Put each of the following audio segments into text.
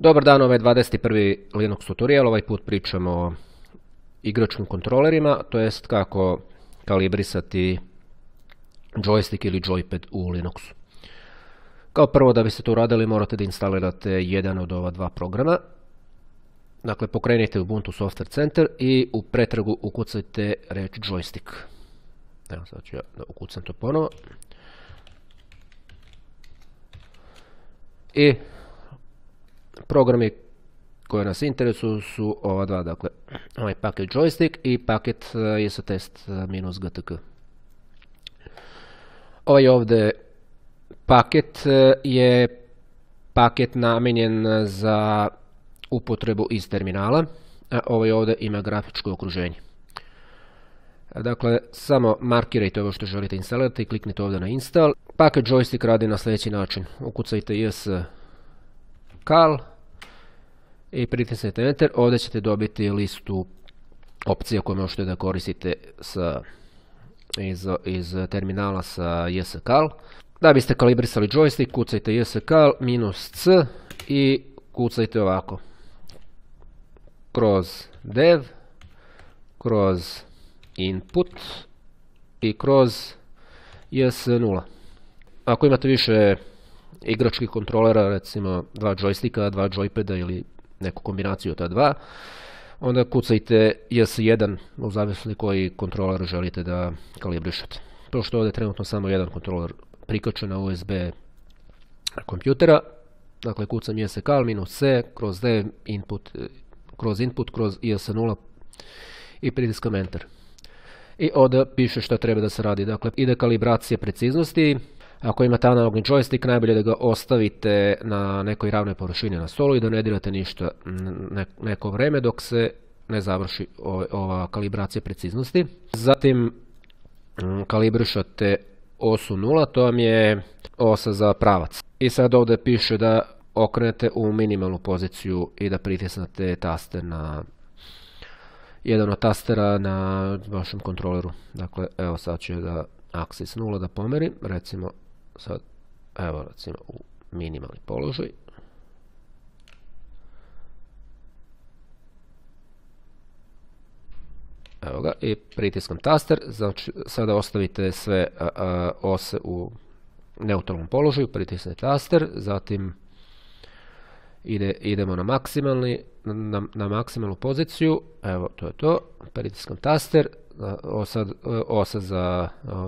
Dobar dan, ovaj 21. Linux tutorial, ovaj put pričamo o igračkim kontrolerima, to jest kako kalibrisati joystick ili joypad u Linuxu. Kao prvo, da biste to uradili, morate da instalirate jedan od ova dva programa. Dakle, pokrenite Ubuntu Software Center i u pretragu ukucajte reč joystick. Evo, sad ću ja da ukucam to ponovo. I programi koji nas interesuju su ova dva, dakle, ovaj paket joystick i paket isotest-gtk. Ovaj ovdje paket je paket namijenjen za upotrebu iz terminala, a ovaj ovdje ima grafičko okruženje. Dakle, samo markirajte ovo što želite instalirati i kliknite ovdje na install. Paket joystick radi na sljedeći način. Ukucajte cal i pritisnite enter. Ovdje ćete dobiti listu opcija koje možete da koristite iz terminala sa cal. Da biste kalibrisali joystick, kucajte cal -c i kucajte ovako. Kroz dev, kroz input i kroz JS0. Ako imate više igračkih kontrolera, recimo dva joysticka, dva joypada ili neku kombinaciju od ta dva, onda kucajte JS1 u zavisnosti koji kontroler želite da kalibrišete. To što ovdje je trenutno samo jedan kontroler prikačen na USB kompjutera, dakle kucam cal -c kroz dev input, kroz JS0 i pritiskam enter. I ovdje piše što treba da se radi. Dakle, ide kalibracija preciznosti. Ako imate analogni joystick, najbolje da ga ostavite na nekoj ravnoj površini na stolu i da ne dirate ništa neko vreme dok se ne završi ova kalibracija preciznosti. Zatim kalibrišate osu 0, to vam je osa za pravac. I sad ovdje piše da okrenete u minimalnu poziciju i da pritisnete taster na jedan od tastera na vašem kontroleru. Dakle, evo sad ću da axis 0 da pomerim, recimo sad, evo recimo u minimalni položaj. Evo ga, i pritiskam taster, znači sada ostavite sve ose u neutralnom položaju, pritisnete taster, zatim idemo na maksimalnu poziciju, evo to je to, pritiskam taster,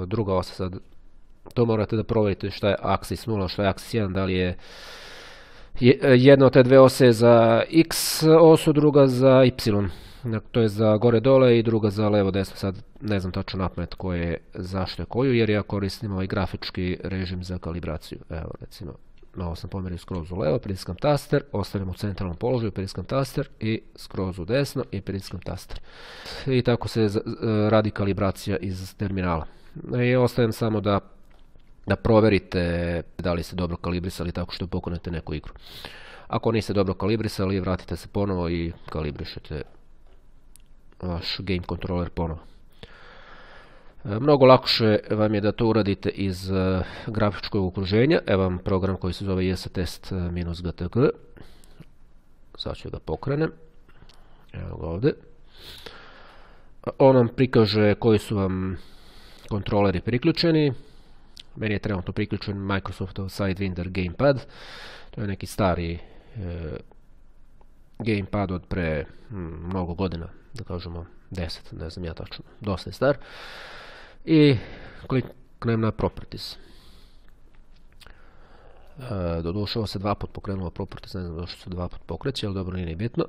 druga osa sad, to morate da provjerite šta je axis 0, šta je axis 1, da li je jedna od te dve ose za x osu, druga za y, to je za gore dole i druga za levo desno, sad ne znam tačno napamet koje zašto je koju, jer ja koristim ovaj grafički režim za kalibraciju. Evo recimo, malo sam pomerio skroz u levo, pritiskam taster, ostavljam u centralnom položaju, pritiskam taster i skroz u desno i pritiskam taster. I tako se radi kalibracija iz terminala. I ostavljam samo da provjerite da li ste dobro kalibrisali tako što pokrenete neku igru. Ako niste dobro kalibrisali, vratite se ponovo i kalibrišete vaš game controller ponovo. Mnogo lakše vam je da to uradite iz grafičkog okruženja. Evo vam program koji se zove isotest-gtk. Sad ću ga pokrenem. Evo ga ovdje. On vam prikaže koji su vam kontroleri priključeni. Meni je trenutno priključen Microsoftov Sidewinder gamepad. To je neki stari gamepad od pre mnogo godina, da kažemo 10, ne znam ja tačno, dosta je star. I kliknem na Properties. Doduše ovo se dva put pokrenulo Properties, ne znam zašto se dva put pokreće, ali dobro, nije ni bitno.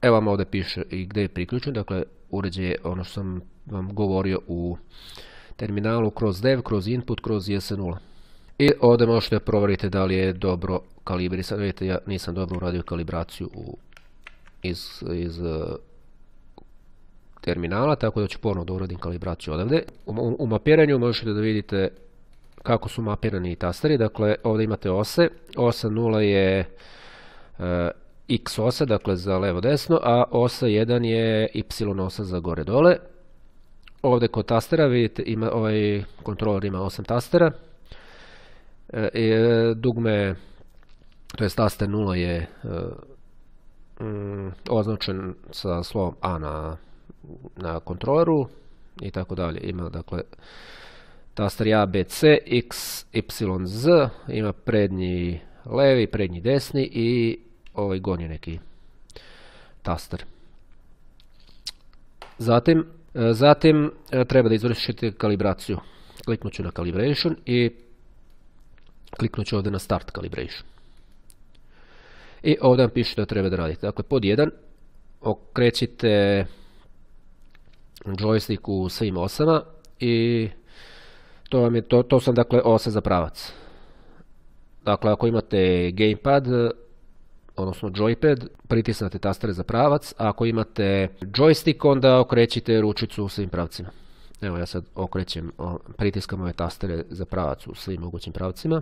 Evo vam ovdje piše i gdje je priključen, dakle uređaj je ono što sam vam govorio u terminalu, kroz dev, kroz input, kroz JS0. I ovdje možete provjeriti da li je dobro kalibrisan. Vidite, ja nisam dobro uradio kalibraciju iz terminala, tako da ću ponovno da uradim kalibraciju odavde. U mapiranju možete da vidite kako su mapirani tasteri. Dakle, ovdje imate ose. Osa 0 je x osa, dakle za levo desno, a osa 1 je y osa za gore dole. Ovdje kod tastera vidite, ovaj kontroler ima 8 tastera. Dugme to jest taster 0 je označen sa slovom A na kontroleru i tako dalje. Ima dakle taster A, B, C, X, Y, Z, ima prednji levi, prednji desni i ovaj gornji neki taster. Zatim treba da izvršite kalibraciju. Kliknut ću na calibration i kliknut ću ovdje na start calibration. I ovdje vam piše što treba da radite. Dakle, pod 1 okrećite joystick u svim osama i to sam dakle ose za pravac. Dakle, ako imate gamepad, odnosno joypad, pritisnete tastere za pravac, a ako imate joystick, onda okrećite ručicu u svim pravcima. Evo ja sad pritiskam ove tastere za pravac u svim mogućim pravcima.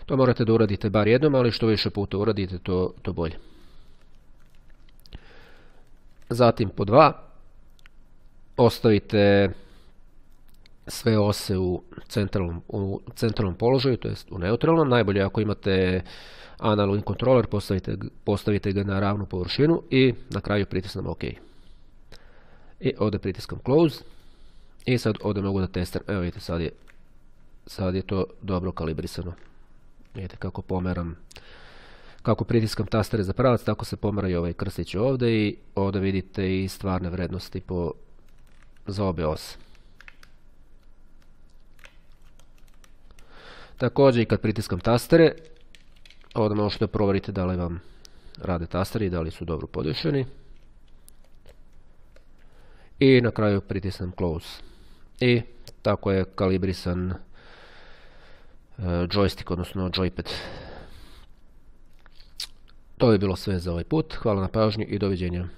To morate da uradite bar jednom, ali što više puta uradite, to bolje. Zatim pod 2 ostavite sve ose u centralnom položaju, to jest u neutralnom. Najbolje ako imate analogni kontroler, postavite ga na ravnu površinu i na kraju pritisnem OK. I ovdje pritiskam close i sad ovdje mogu da testiram. Evo vidite, sad je to dobro kalibrisano. Vidite kako pomeram, kako pritiskam tastere za pravac, tako se pomeraju ovaj krstić ovdje i ovdje vidite i stvarne vrednosti za obe ose. Također i kad pritiskam tastere, ovdje možete provjeriti da li vam rade tasteri i da li su dobro podešeni. I na kraju pritisnem close. I tako je kalibrisan joystick, odnosno joypad. To je bilo sve za ovaj put. Hvala na pažnji i doviđenja.